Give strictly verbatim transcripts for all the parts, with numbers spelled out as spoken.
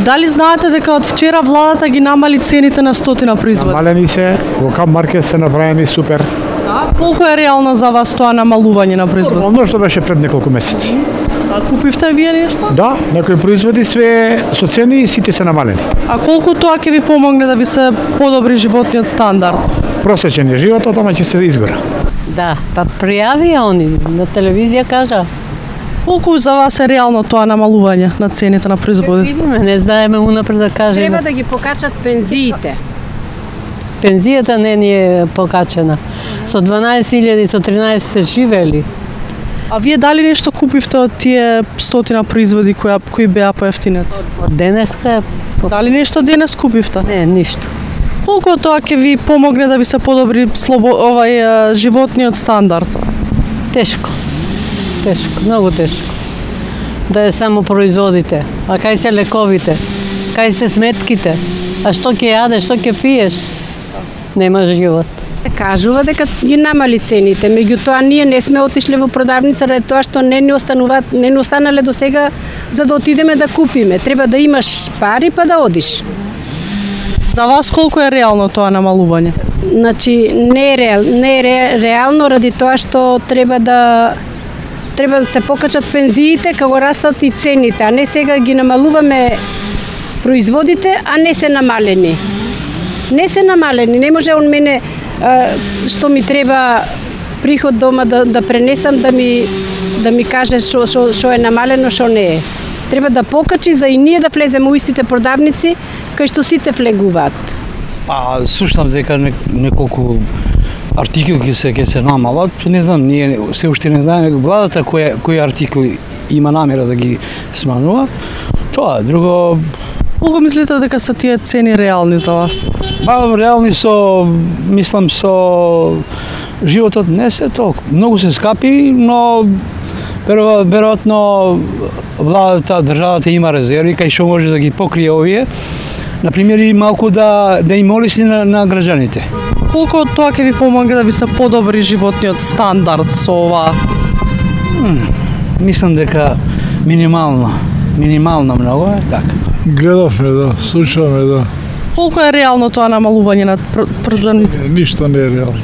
Дали знаете дека од вчера владата ги намали цените на стотина производи? Намалени се, во Камп Маркет се направени супер. Да, колку е реално за вас тоа намалување на производи? Оно што беше пред неколку месеци. А купивте вие нешто? Да, некои производи све со цени и сите се намалени. А колку тоа ќе ви помогне да ви се подобри животниот стандард? Просечен е животот, ама ќе се изгора. Да, па пријави они, на телевизија кажа. Колку за вас е реално тоа намалување на цените на производите? Видиме, не знаеме унапред да кажеме. Треба да ги покачат пензиите. Пензијата не ни е покачена. Со дванаесет илјади, со тринаесет се живели. А вие дали нешто купивте од тие стотина производи кои, кои беа поевтинети? Од денеска... Дали нешто денес купивте? Не, ништо. Колку тоа ќе ви помогне да ви се подобри слобо, овај животниот стандард? Тешко. Тешко, многу тешко. Да е само производите. А кај се лековите? Кај се сметките? А што ќе јадеш, што ќе пиеш? Нема живот. Кажува дека ги намали цените, меѓутоа ние не сме отишли во продавница ради тоа што не ни остануваат, не ни останале до сега за да отидеме да купиме. Треба да имаш пари па да одиш. За вас колку е реално тоа намалување? Значи не е реал, не е ре, реално ради тоа што треба да треба да се покачат пензиите како растат и цените, а не сега ги намалуваме производите, а не се намалени. Не се намалени, не може он мене што ми треба приход дома да, да пренесам да ми да ми каже што што што е намалено, што не е. Треба да покачи за и ние да влеземе у истите продавници кај што сите влегуваат. Па слушам дека неколку артикли ќе се ќе се намалат, не знам, ние се уште не знаеме владата кои кои артикли има намера да ги сманува. Тоа, друго. Колку мислите дека се тие цени реални за вас? Па реални со, мислам со животот не се толку. Многу се скапи, но веројатно владата, државата има резерви кај што може да ги покрие овие. Например, и малку да да им олесни на, на граѓаните. Колку тоа ќе ви помогне да ви се подобри животниот стандард со ова? М, мислам дека минимално, минимално многу е така. Гледавме, да, слушаме, да. Колку е реално тоа намалување на продавници? Ништо не е реално.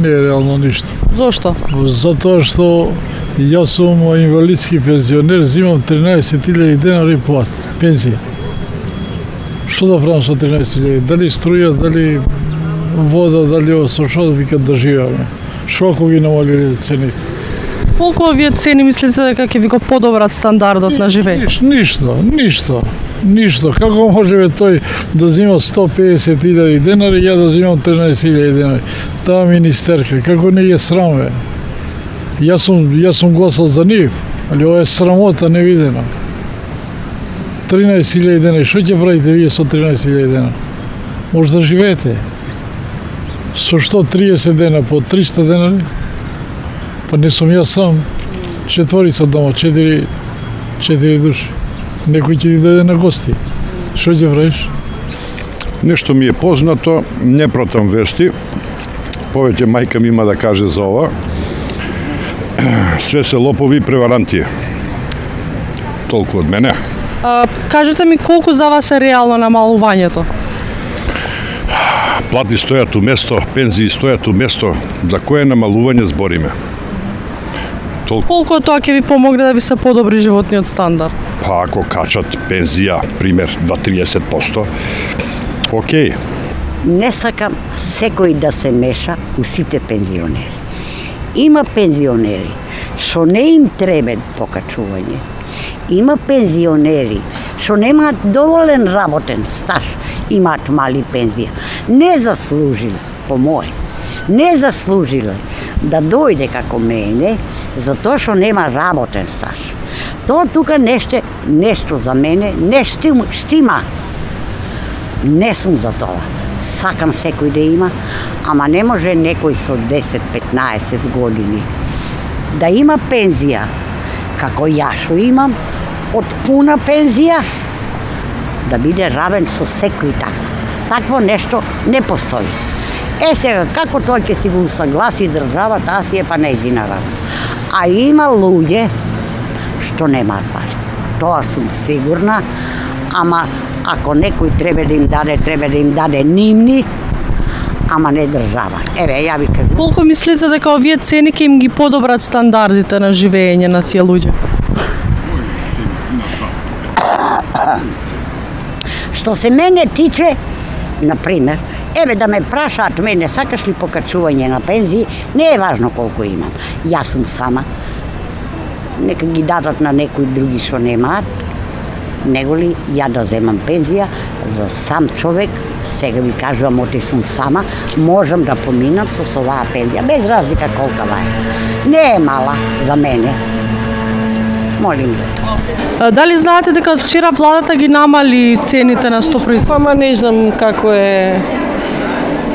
Не е реално ништо. Зошто? Затоа што јас сум инвалидски пензионер, зимам тринаесет илјади денари плат, пензија. Што да правам со тринаесет илјади? Дали струја, дали вода, дали ово со што викат да живееме? Што ако ги намалиле цените? Колку овие цени мислите дека ќе ви го подобрат стандардот на живење? Ништо, ништо. Ништо. Како може тој да зима сто педесет илјади денари, ја да зимам тринаесет илјади денари? Таа министерка, како не е срам, бе. Јас сум, јас сум гласал за нив, али ова е срамота невидена. тринаесет илјади денари, што ќе правите вие со тринаесет илјади денари? Може да живеете. Со што триесет дена по триста денари? Па не сум јас сам. Четворица дома, четири, четири души. Некој ќе ти дојде на гости. Што ќе правиш? Нешто ми е познато, не протам вести. Повеќе мајка ми има да каже за ова. Све се лопови и преваранти. Толку од мене. А, кажете ми колку за вас е реално намалувањето? Плати стојат у место, пензии стојат у место. За кое намалување збориме? Толку. Колку тоа ќе ви помогне да ви се подобри животниот стандард? Па ако качат пензија, пример два до триесет проценти, окей. Не сакам секој да се меша у сите пензионери. Има пензионери што не им треба покачување. Има пензионери што немаат доволен работен стаж, имаат мали пензија. Не заслужиле, по моје, не заслужиле да дојде како мене, затоа што нема работен стаж. Тоа тука нешто, нешто за мене, не штима, штима. Не сум за тоа. Сакам секој да има, ама не може некој со десет-петнаесет години да има пензија, како јас што имам, од пуна пензија, да биде равен со секој така. Такво нешто не постои. Е сега, како тоа ќе си го усагласи држава, таа си е па нејзина работа. А има луѓе што немаат пари. Тоа сум сигурна, ама Ако некој треба да им даде, треба да им даде нивни, ама не држава. Еве, ја ви кажам. Колку мислите дека овие цени ќе им ги подобрат стандардите на живење на тие луѓе? Што се мене тиче, например, еве да ме прашаат мене, сакаш ли покачување на пензии, не е важно колку имам. Јас сум сама. Нека ги дадат на некои други што немаат, него ли ја да земам пензија за сам човек, сега ви кажувам, оти сум сама, можам да поминам со оваа пензија, без разлика колкава е. Не е мала за мене. Молим А, Дали знаете дека од вчера владата ги намали цените на сто производи? Ама не знам како е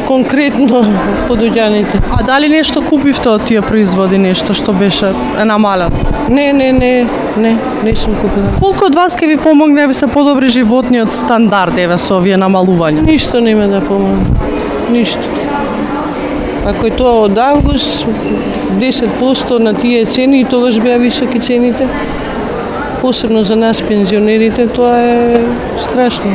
конкретно подоѓаните. А дали нешто купивте од тие производи, нешто што беше е намалено? Не, не, не, не, не сум купила. Колку од вас ќе ви помогне да се подобри животниот стандард еве со овие намалувања? Ништо нема да помогне. Ништо. Ако е тоа од август, десет проценти на тие цени, и тогаш беа високи цените, посебно за нас пензионерите, тоа е страшно.